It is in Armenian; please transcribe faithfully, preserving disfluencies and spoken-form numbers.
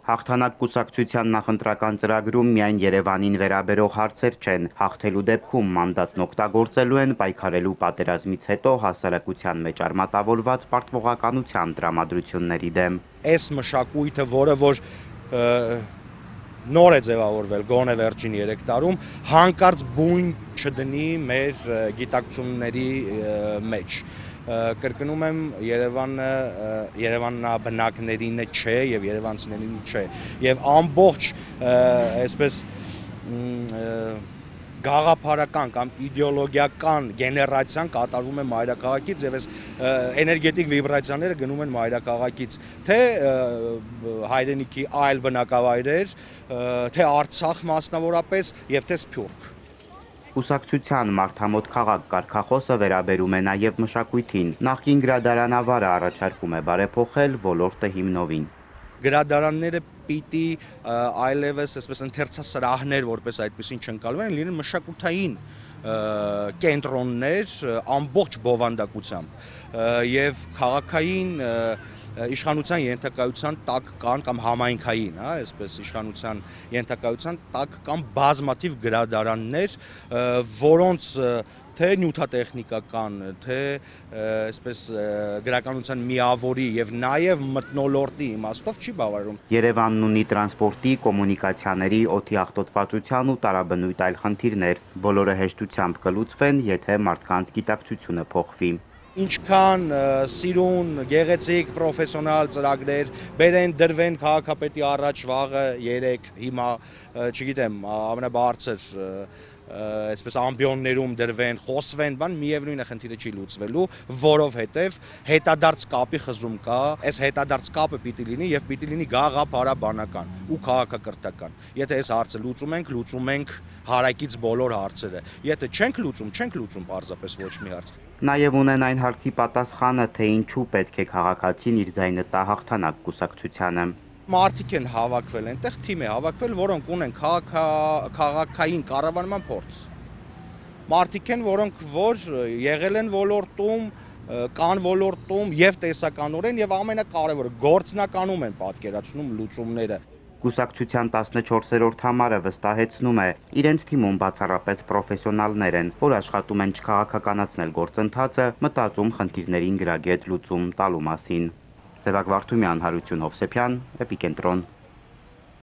Հաղթանակ կուսակցության նախընտրական ծրագրում միայն Երևանին վերաբերող հարցեր չեն, հաղթելու դեպքում մանդատն օգտագործելու են պայքարելու պատերազմից հետո հասարակության մեջ արմատավորված պարտվողականության տրամադրությունների դեմ։ Այս մշակույթը, որը որ նոր է ձևավորվել գոնե վերջին երեք տարում, հանկարծ բույն չդնի մեր գիտակցությունների մեջ։ Կրկնում եմ, Երևանը երևանաբնակներին չէ եւ երևանցիներին չէ եւ ամբողջ այսպես գաղափարական կամ իդեոլոգիական գեներացիան կատարվում է մայրաքաղաքից եւ այս էներգետիկ վիբրացիաները գնում են մայրաքաղաքից, թե հայրենիքի այլ բնակավայրեր, թե Արցախ մասնավորապես եւ թե Սփյուռք։ Կուսակցության մարդամոտ քաղաք կարգախոսը վերաբերում է նաև մշակույթին։ Նախկին գրադարանավարը առաջարկում է բարեփոխել ոլորտը հիմնովին։ Գրադարանները պիտի այլևս այսպես ընթերցասրահներ, որպես այդպեսին չընկալվեն, լինեն մշակութային կենտրոններ ամբողջ բովանդակությամբ եւ քաղաքային իշխանության ենթակայության տակ կան կամ համայնքային, հա, այսպես իշխանության ենթակայության տակ կան բազմաթիվ գրադարաններ, որոնց թե նյութատեխնիկական, թե այսպես գրականության միավորի եւ նաեւ մթնոլորտի իմաստով չի բավարարում։ Երևանն ունի տրանսպորտի, կոմունիկացիաների, օդի աղտոտվածության ու տարաբնույթ այլ խնդիրներ, բոլորը հեշտությամբ կլուծվեն, եթե մարդկանց գիտակցությունը փոխվի։ Ինչքան սիրուն, գեղեցիկ, պրոֆեսիոնալ ծրագրեր բերեն, դրվեն քաղաքապետի առաջ վաղը երեք, հիմա, չգիտեմ, ամենաբարձր այսպես ամբիոններում դրվեն, խոսվեն, բան միևնույն է խնդիրը չի լուծվելու, որովհետև հետադարձ կապի խզում կա, այս հետադարձ կապը պիտի լինի եւ պիտի լինի գաղափարաբանական ու քաղաքակրթական։ Եթե այս հարցը լուծում ենք, լուծում ենք հարակից բոլոր հարցերը։ Եթե չենք լուծում, չենք լուծում պարզապես ոչ մի հարց։ Նաև ունեն այն հարցի պատասխանը, թե ինչու պետք է քաղաքացին իր ձայնը տա հաղթանակ կուսակցությանը։ Մարդիկ են հավաքվել, այնտեղ թիմ է հավաքվել, որոնք ունեն քաղաքային կառավարման փորձ։ Մարդիկ են, որոնք որ եղել են ոլորտում, կան ոլորտում եւ տեսականորեն եւ ամենակարևորը գործնականում են պատկերացնում լուծումները։ Կուսակցության տասնչորսերորդ համարը վստահեցնում է, իրենց թիմում բացառապես պրոֆեսիոնալներ են, որ աշխատում են չքաղաքականացնել գործընթացը, մտածում խնդիրներին գրագետ լուծում տալու մասին։ Սևակ Վարդումյան, Հարություն Հովսեփյան, Էպիկենտրոն։